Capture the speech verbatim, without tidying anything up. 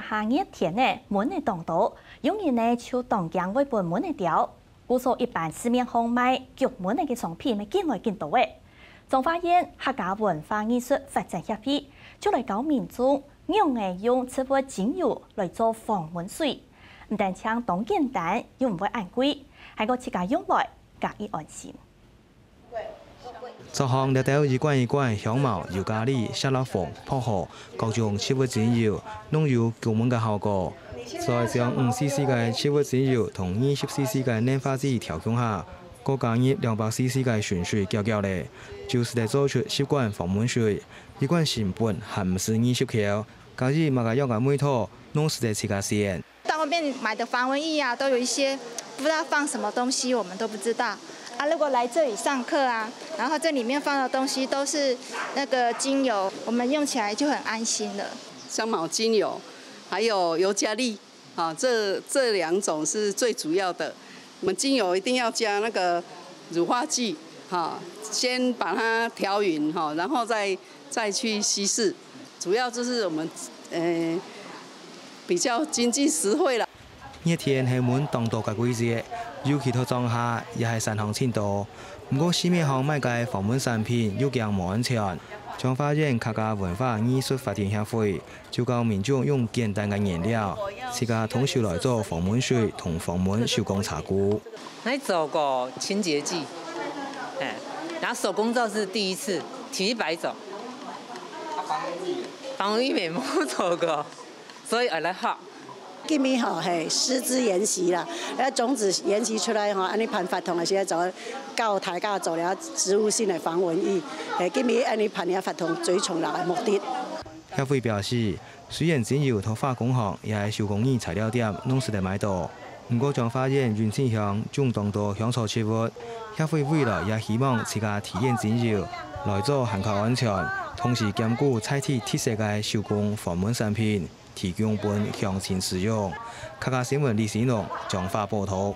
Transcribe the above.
下熱天呢，蚊仔當多，有人呢就當驚會分蚊仔叮，故所一般市面項賣驅蚊仔个商品乜緊來緊多誒。彰化縣客家文化藝術發展協會就來教民眾仰仔用植物精油來做防蚊水，毋單淨當簡單，又毋會恁貴，還過自家用來加以安心。 桌項這兜一罐一罐香茅、尤加利、錫lapfong、薄荷，各種植物精油，攏有驅蚊个效果。再將五C C个植物精油同二十C C个塑化劑調共下，過加入兩百C C个純水攪攪咧，就使得做出十罐防蚊水。一罐成本還毋使二十箍，加入麼个樣个味道，攏使得自家選。 到外面買的防蚊液啊，都有一些不知道放什么东西，我们都不知道。啊，如果来这里上课啊，然后这里面放的东西都是那个精油，我们用起来就很安心了。香茅精油，还有尤加利，啊，这，这两种是最主要的。我们精油一定要加那个乳化剂，哈，先把它调匀，哈，然后再，再去稀释。主要就是我们，呃，比较经济实惠啦。 熱天係蚊當多个季節，尤其在庄下，也係山項盡多。毋過市面項賣个防蚊產品又驚無安全。彰化縣客家文化藝術發展協會就教民眾用簡單个原料，自家動手來做防蚊水同防蚊手工茶具。來做過清潔劑，哎，然後手工皂是第一次，提一百種。防蚊液沒做過。 所以愛來學。今晡吼係師資研習啦，啊種子研習出來吼，恁呢辦活動个時節就教大家做了植物性个防蚊液，係今晡恁呢辦了活動最重要个目的。協會表示，雖然精油在化工行也係手工藝材料店攏使得買到，毋過彰化縣雲林鄉種當多香草植物，協會未來也希望自家提煉精油來做還較安全，同時兼顧在地特色个手工防蚊產品。 提供分鄉親使用。客家新聞李新龍彰化報導。